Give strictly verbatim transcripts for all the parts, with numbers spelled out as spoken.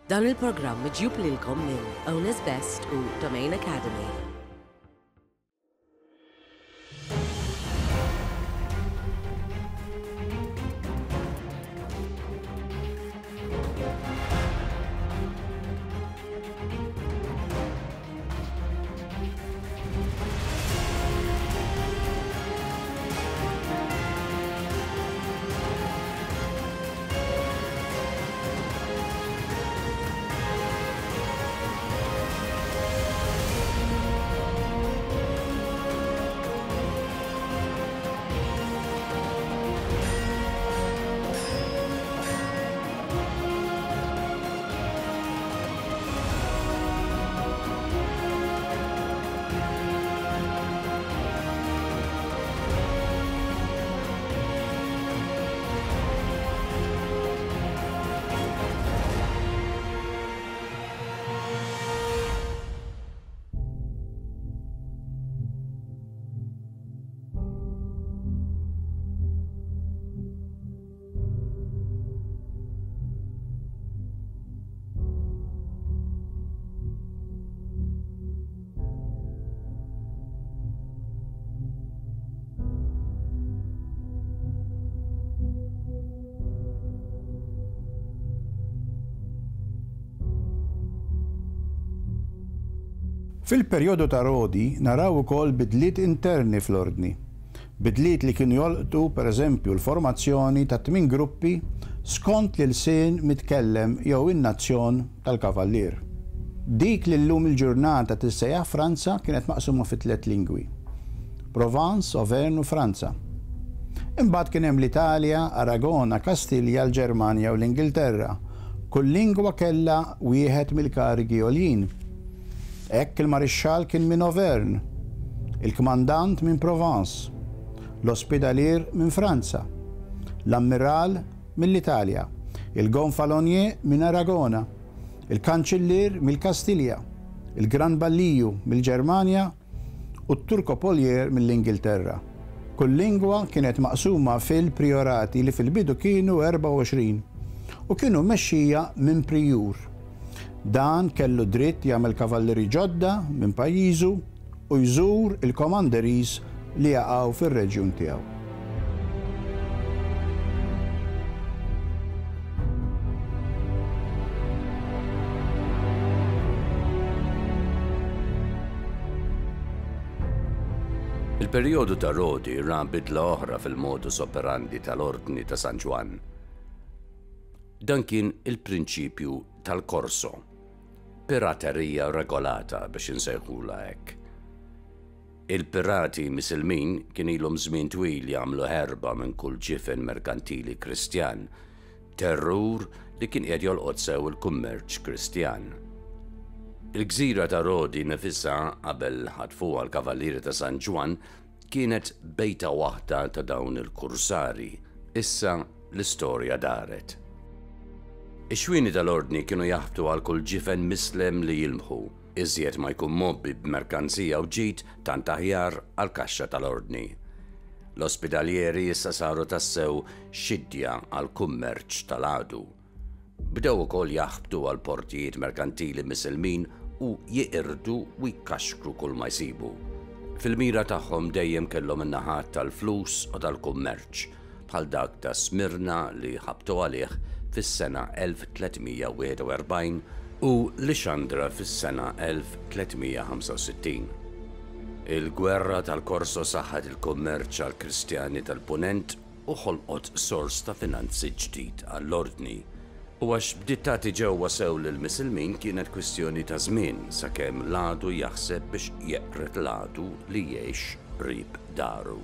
Dan il-programm miġjub lilkom minn Owner's Best u Domain Academy. Fil-perjodu ta' Rodi naraw ukoll bidliet interni fl-ordni. Bidliet li kienu jolqtu pereżempju l-formazzjoni ta' tmien gruppi skont l-ilsien mitkellem jew in-nazzjon tal-kavallier. Dik li llum il-ġurnata tissejjaħ Franza kienet maqsuma fi tliet lingwi: Provence, Auvergne u Franza. Imbagħad kien hemm l-Italja, Aragona, Kastilja, l-Ġermanja u l-Ingilterra. Kull lingwa kellha wieħed mill-karigi għoljin. Hekk il-marixxall kien minn Auvergne, il-kmandant minn Provence, l-ospedalier minn Franza, l-ammiral mill-Italja, il-gonfalonier minn Aragona, il-kanċillier mill-Kastilja, il-Gran Balliju mill-Ġermanja u t-Turkopolier mill-Ingilterra. Kull lingwa kienet maqsuma fil-priorati li fil-bidu kienu erbgħa u għoxrin u kienu mmexxija minn prijur. Dan kellu dritt jagħmel kavallieri ġodda minn pajjiżu u jżur il-komanderies li jaqgħu fir-reġjun tiegħu. Il-perjodu ta' Rodi ra bidla oħra fil-modus operandi tal-Ordni ta' San Ġwann. Dan kien il-prinċipju tal-korso, piraterija regolata biex insejħula hekk. Il-pirati misilmin kien ilhom żmien twil jagħmlu ħerba minn kull ġifen merkantili Kristjan, terrur li kien qiegħed jolqot sew il-kummerċ Kristjan. Il-gżira ta' Rodi nifisha qabel ħatfuha l-Kavallieri ta' San Ġwann kienet bejta waħda ta' dawn il-kursari. Issa l-istorja daret. Ix-xwieni tal-ordni kienu jaħbtu għal kull ġifen mislem li jilmħu. Iżjed ma jkun mobbi b'merkanzija u ġid tant aħjar għal kaxxa tal-ordni. L-ospedalieri issa saru tassew xidja għal kummerċ tal-għadu. Bdew ukoll jaħbtu għal portijiet merkantili misilmin u jeqirdu u jkaxkru kull ma jsibu. Fil-mira tagħhom dejjem kellhom in-naħat tal-flus u tal-kummerċ, bħal dak ta' Smirna li ħabtu għalih fis-sena elf tlietmija wieħed u erbgħin u Lixandra fis-sena elf tlietmija ħamsa u sittin. Il-gwerra tal-Korso saħħet il-kummerċ għall-Kristjani tal-Punent u ħolqot sors ta' finanzi ġdid għall-ordni. U għax bdiet tagħti ġewwa sew lill-Misilmin kienet kwistjoni ta' żmien sakemm l-għadu jaħseb biex jeqred l-għadu li jgħix qrib daru.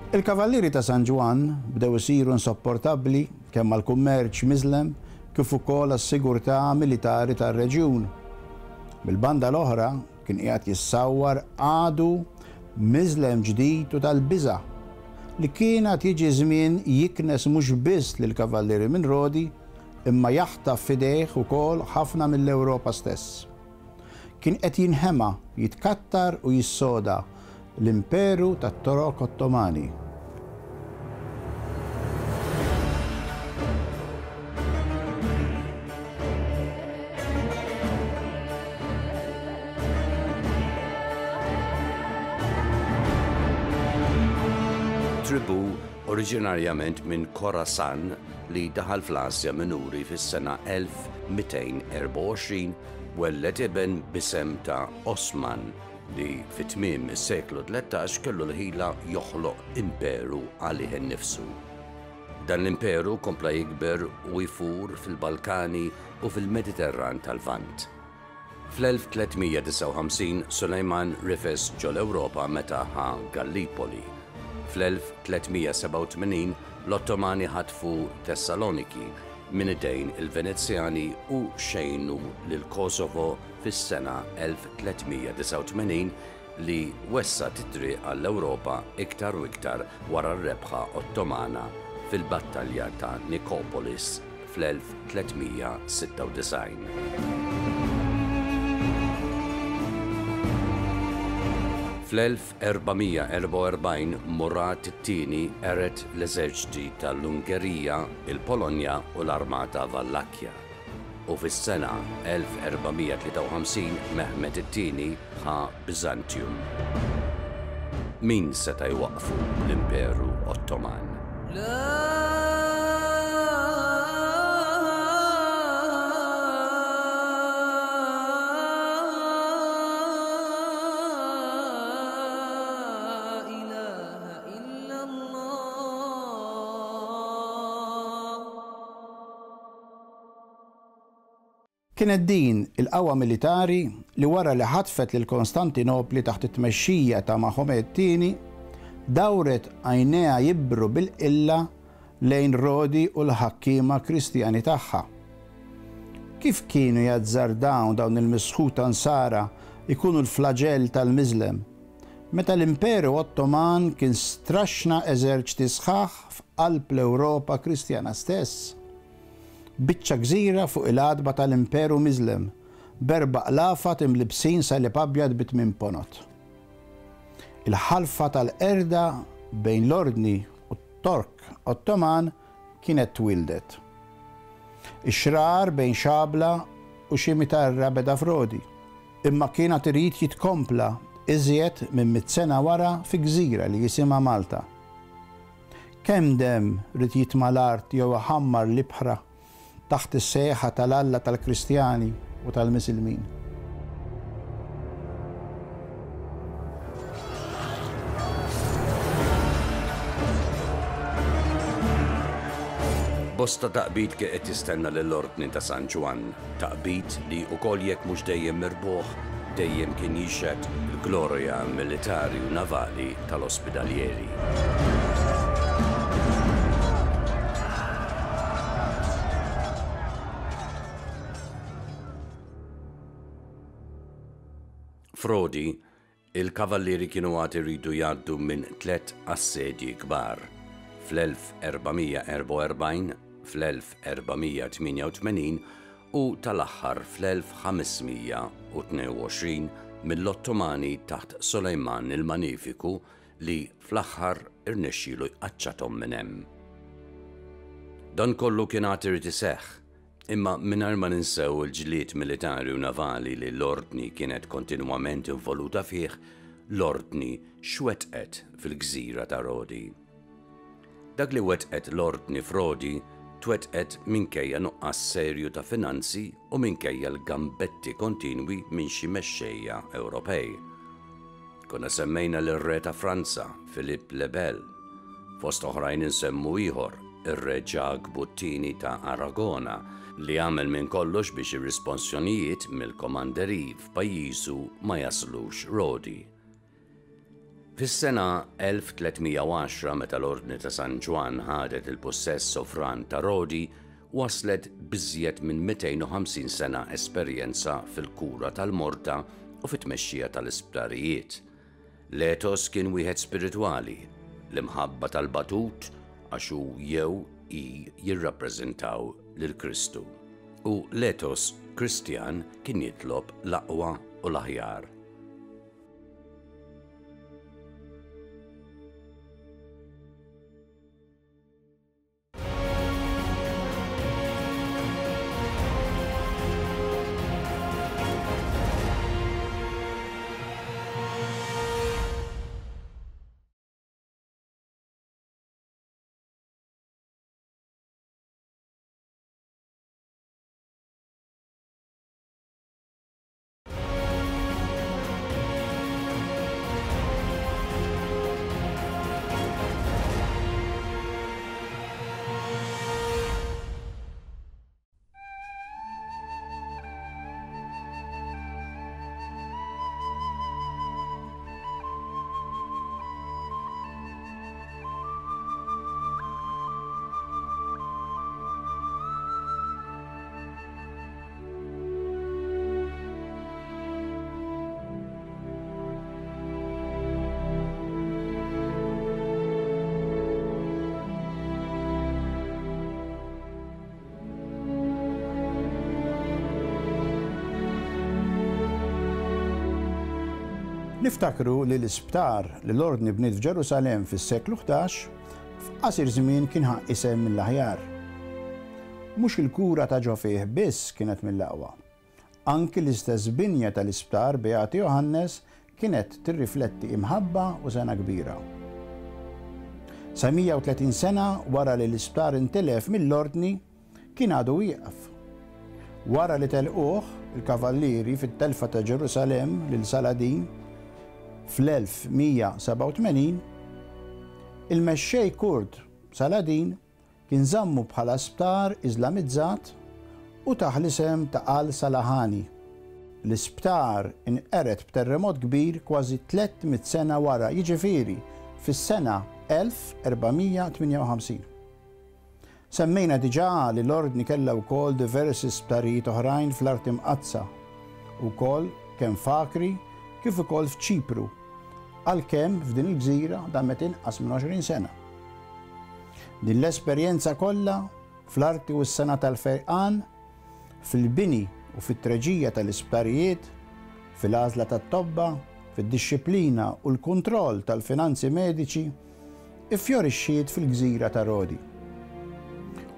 Il-Kavallieri ta' San Ġwann bdew isiru insopportabbli kemm għall-kummerċ miżlem kif ukoll għas-sigurtà militari tar-reġjun. Mill-banda l-oħra kien qiegħed jissawwar għadu miżlem ġdid u tal-biża' li kien għad jiġi żmien jiknes mhux biss lill-Kavallieri minn Rodi imma jaħtaf f'idejh ukoll ħafna mill-Ewropa stess. Kien qed jinħema, jitkattar u jissoda l-Imperu tat-Torok Ottomani. Tribù oriġinarjament minn Khorasan li daħal fl-Asja Minuri fis-sena elf mitejn erbgħa u għoxrin welled iben b'isem ta' Osman li fi tmiem is-seklu tlettax kellu l-ħila joħloq imperu għalih innifsu. Dan l-imperu kompla jikber u jfur fil-Balkani u fil-Mediterran tal-Lvant. Fl-elf tliet mija disgħa u ħamsin Sulejman rifes ġol-Ewropa meta ħa Gallipoli. Fl-elf tliet mija sebgħa u tmenin l-Ottomani ħatfu Tessaloniki minn idejn il-Venezjani u xejnu lil Kosovo fis-sena elf tliet mija disgħa u tmenin li wessgħet it-triq għall-Ewropa iktar u iktar wara r-rebħa Ottomana fil-battalja ta' Nikopolis fl-elf tliet mija sitta u disgħin. Fl-elf erba' mija erbgħa u erbgħin Murad it-tieni qered l-eżerċti tal-Ungerija, il-Polonja u l-Armata Vallakkja. U fis-sena elf erba' mija tlieta u ħamsin Mehmed it-tieni ħa Byzantium. Min seta' jwaqqfu l-Imperu Ottoman? Kienet din il-qawwa militari li wara li ħatfet lil Konstantinopli taħt it-tmexxija ta' Mahomet it-tieni, dawret għajnejha jibru bil-qilla lejn Rodi u l-ħakkiema Kristjani tagħha. Kif kienu jazzardaw dawn il-misħuta nsara ikunu l-flagell tal-Miżlem, meta l-Imperu Ottoman kien straxna eżerċti sħaħ f'qalb l-Ewropa Kristjana stess. Biċċa gżira fuq il-għatba tal-Imperu Miżlem, b'erba' qlafat imlibsin salib abjad bi tmien ponot. Il-ħalfa tal-qerda bejn l-Ordni u t-Tork Ottoman kienet twildet. Ix-xrar bejn xabla u xi mitarra beda f'Rodi, imma kienet irid jitkompla iżjed minn mitt sena wara fi gżira li jisimha Malta. Kemm dem rid jitma' l-art jew iħammar l-ibħra taħt is-sejħa tal-Alla tal-Kristjani u tal-Misilmin. Bosta taqbid kien qed jistenna lill-Ordni ta' San Ġwann, taqbid li wkoll jekk mhux dejjem mirbuħ, dejjem kien jixhed il-glorja militari u navali tal-ospedalieri. F'Rodi, il-kavallieri kienu għad iridu jgħaddu minn tliet assedji kbar fl-elf erba' mija erbgħa u erbgħin, fl-elf erba' mija tmienja u tmenin u tal-aħħar fl-elf ħames mija u tnejn u għoxrin mill-Ottomani taħt Sulejman il-Manifiku li fl-aħħar irnexxielu jqaċċathom minn hemm. Dan kollu kien għad irid iseħħ, imma mingħajr ma ninsew il-ġlied militari u navali li l-Ordni kienet kontinwament involuta fih, l-Ordni x'wettqet fil-gżira ta' Rodi. Dak li wettqet l-Ordni f'Rodi twettqet minkejja nuqqas serju ta' finanzi u minkejja l-gambetti kontinwi minn xi mexxejja Ewropej. Konna semmejna lir-re ta' Franza, Philippe le Bel. Fost oħrajn insemmu ieħor, ir-re Ġakbu t-tieni ta' Aragona, li għamel minn kollox biex ir-risponsjonijiet mill-komanderi f'pajjiżu ma jaslux Rodi. Fis-sena elf tliet mija u għaxra meta l-Ordni ta' San Ġwann ħadet il-possess sovran ta' Rodi, waslet biżjed minn mitejn u ħamsin sena esperjenza fil-kura tal-morda u fit-tmexxija tal-isptarijiet. L-etos kien wieħed spiritwali, l-imħabba tal-batut għax hu jew i jirrappreżentaw lil Kristu. U l-etos Kristjan kien jitlob l-aqwa u l-aħjar. Niftakru li l-isptar li l-Ordni bniet f'Ġerusalemm fis-seklu ħdax f'qasir żmien kien ħa isem mill-aħjar. Mhux il-kura ta' ġo fih biss kienet mill-aqwa. Anki l-istess binja tal-isptar Beati Johannes kienet tirrifletti imħabba u sena kbira. Sa mija u tletin sena wara li l-isptar intilef mill-Ordni kien għadu wieqaf. Wara li telquh il-kavallieri fit-telfa ta' Ġerusalemm lil Saladin fl-elf mija sebgħa u tmenin, il-mexxej Kurd Saladin kien żammu bħala sptar Iżlamizzat u taħ l-isem ta' Al-Salahani. L-isptar inqered b'terremot kbir kważi tliet mitt sena wara, jiġifieri fis-sena elf erba' mija tmienja u ħamsin. Semmejna diġà li l-Ordni kellha wkoll diversi sptarijiet oħrajn fl-Art Imqaddsa, ukoll kemm f'Akri kif ukoll f'Ċipru, għalkemm f'din il-gżira damet inqas minn għoxrin sena. Din l-esperjenza kollha fl-arti u s-sena tal-fejqan, fil-bini u fit-treġija tal-isptarijiet, fil-għażla tat-tobba, fid-dixxiplina u l-kontroll tal-finanzi mediċi, iffjorixxiet fil-gżira ta' Rodi.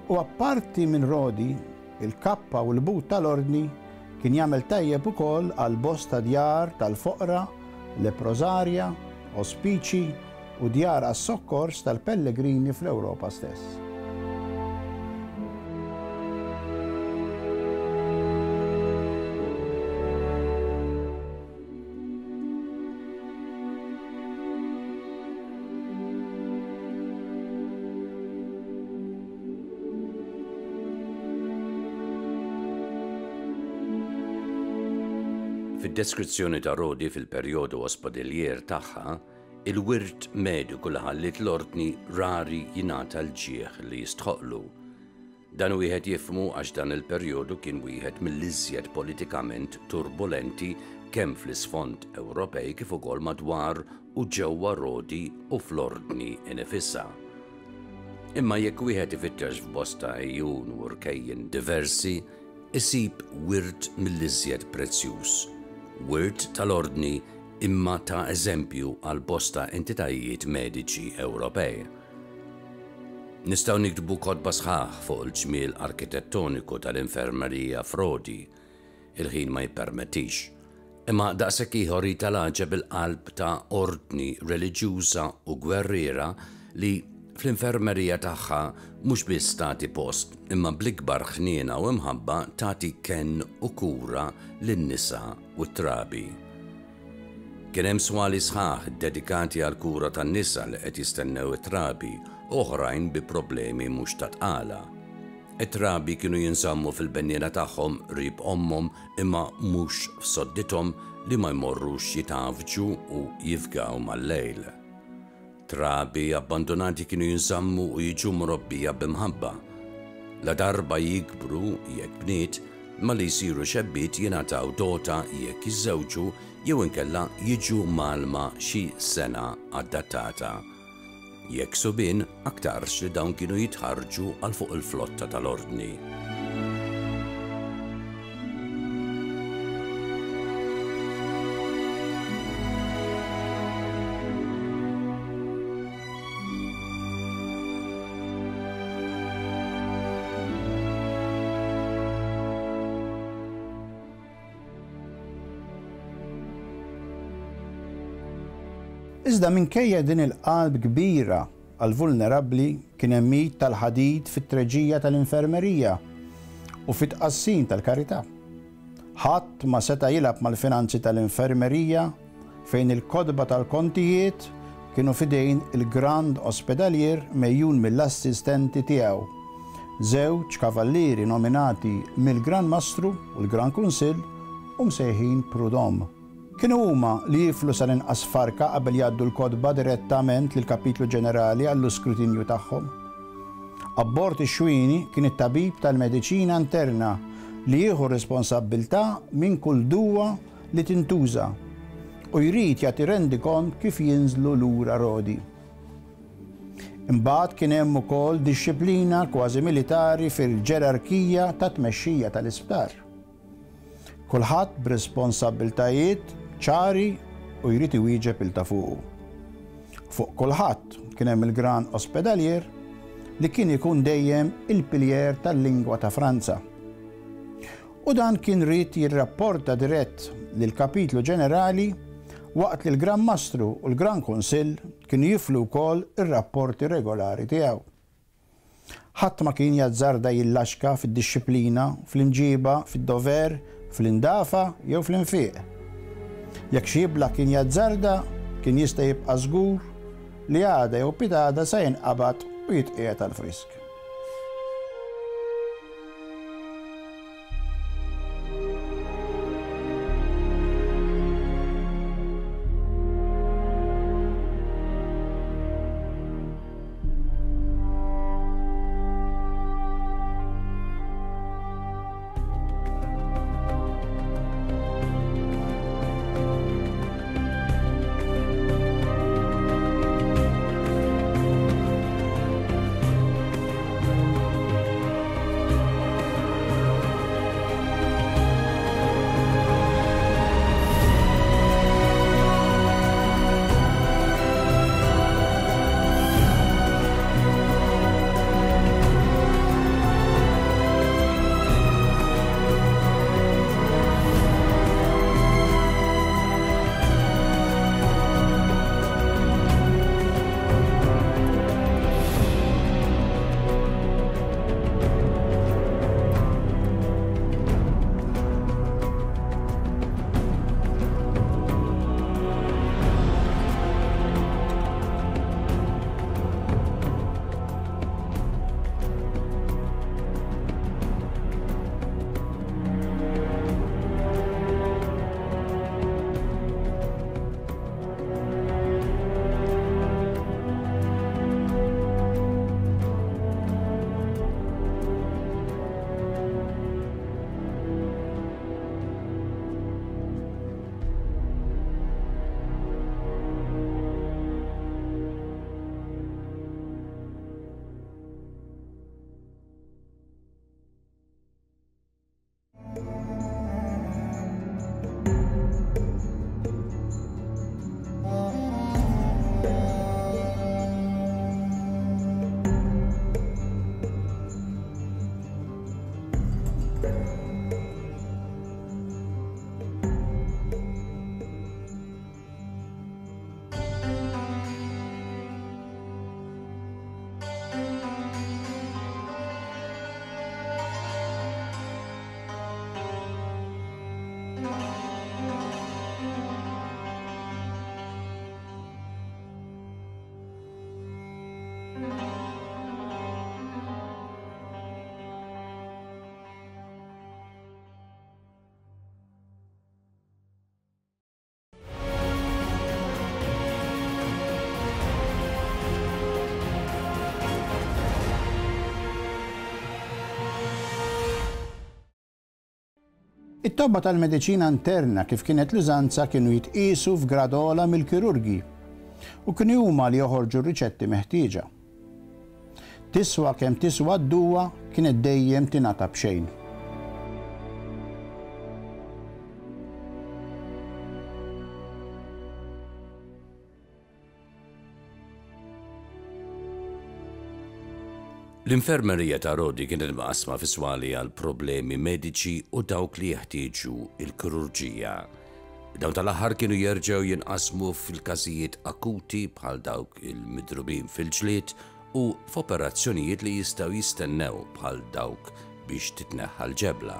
U apparti minn Rodi, il-kappa u l-but tal-Ordni kien jagħmel tajjeb ukoll għal bosta djar tal-foqra, leprosarja, ospiċi u djar għas-sokkors tal-pellegrini fl-Ewropa stess. Fid-deskrizzjoni ta' Rodi fil-perjodu ospedalier tagħha, il-wirt mediku li ħalliet l-Ordni rari jingħata l-ġieħ li jistħoqlu. Dan wieħed jifhmu għax dan il-perjodu kien wieħed mill-iżjed politikament turbulenti kemm fl-isfond Ewropej kif ukoll madwar u ġewwa Rodi u fl-Ordni inifisha. Imma jekk wieħed ifittex f'bosta għejun u rkejjen diversi, isib wirt mill-iżjed prezzjuż. Wirt tal-Ordni imma ta' eżempju għal bosta entitajiet mediċi Ewropej. Nistgħu niktbu kotba sħaħ fuq il-ġmiel arkitettoniku tal-infermerija f'Rodi, il-ħin ma jippermettix. Imma daqshekk ieħor tal-għaġeb il-qalb ta' ordni reliġjuża u gwerriera li fl-infermerija tagħha mhux biss tagħti post, imma bl-ikbar ħniena u imħabba tagħti kenn u kura lin-nisa u t-trabi. Kien hemm swali sħaħ dedikati għal kura tan-nisa li qed jistennew it-trabi, oħrajn bi problemi mhux ta' tqala. It-trabi kienu jinżammu fil-benniena tagħhom qrib ommhom imma mhux f'soddithom li ma jmorrux jitgħafġu u jifgaw mal-lejl. Trabi abbandonati kienu jinżammu u jiġu mrobbija b'imħabba. La darba jikbru jekk bniet, ma li jsiru xebbiet jingħataw dota jekk jiżżewġu jew inkella jiġu malma xi sena adattata. Jekk subien, aktarx li dawn kienu jitħarġu għal fuq il-flotta tal-Ordni. Iżda minkejja din il-qalb kbira għal-vulnerabbli kien hemm mit tal-ħadid fit-treġija tal-infermerija u fit-tqassim tal-karità. Ħadd ma seta' jilgħab mal-finanzi tal-infermerija fejn il-kotba tal-kontijiet kienu fidejn il-Grand Ospedalier mejjun mill-assistenti tiegħu, żewġ kavallieri nominati mill-Gran Mastru u l-Gran Kunsill u msejħin Prud'homme. Kienu huma li jiflu sal-inqas farka qabel jgħaddu l-kotba direttament lill-Kapitlu Ġenerali għall-iskrutinju tagħhom. Abbord ix-xwini kien it-tabib tal-mediċina interna li jieħu responsabbiltà minn kull duwa li tintuża u jrid jagħti rendikont kif jinżlu lura Rodi. Imbagħad kien hemm ukoll dixxiplina kważi militari fil-ġerarkija ta' tmexxija tal-isptar. Kulħadd b'responsabbiltajiet ċari u jrid iwieġeb il ta' fuqu. Fuq kulħadd kien hemm il-Gran Ospedalier li kien ikun dejjem il-piljer tal-lingwa ta' Franza. U dan kien ried jirrapporta dirett lill-Kapitlu Ġenerali waqt li l-Gran Mastru u l-Gran Kunsill kienu jiflu wkoll ir-rapporti regolari tiegħu. Ħadd ma kien jazzarda jillaxka fid-dixxiplina, fl-imġiba, fid-dover, fl-indafa jew fl-infiq. Jekk xi jibla kien jazzarda, kien jista' jibqa' żgur li għada jew pitada se jinqabad u jitqiegħed għall-frisk. It-tobba tal-mediċina interna kif kienet l-użanza kienu jitqisu f'grad ogħla mill-kirurgi u kienu huma li joħorġu r-riċetti meħtieġa. Tiswa kemm tiswa d-duwa kienet dejjem tingħata b'xejn. L-infermerija ta' Rodi kienet maqsma fi swali għal problemi mediċi u dawk li jeħtieġu il-kirurġija. Dawn tal-aħħar kienu jerġgħu jinqasmu fil-każijiet akuti bħal dawk il-midrubin fil-ġlied u f'operazzjonijiet li jistgħu jistennew bħal dawk biex titneħħa l-ġebla.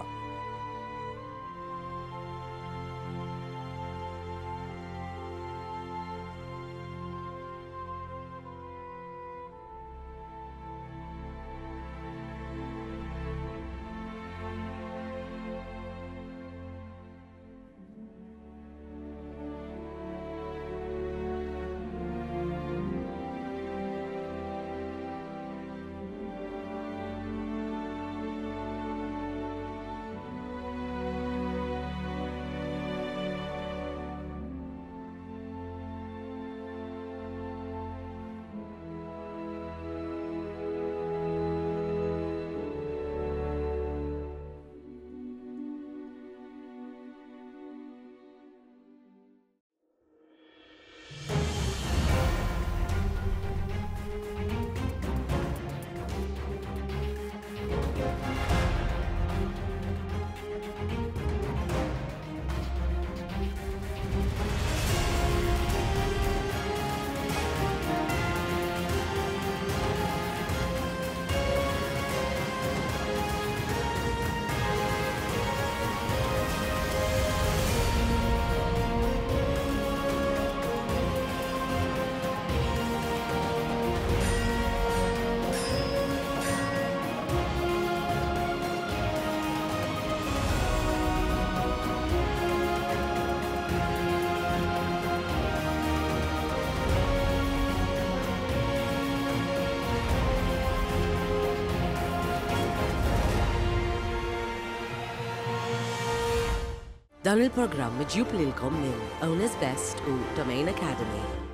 Dan il-programm miġjub lilkom minn Owner's Best u Domain Academy.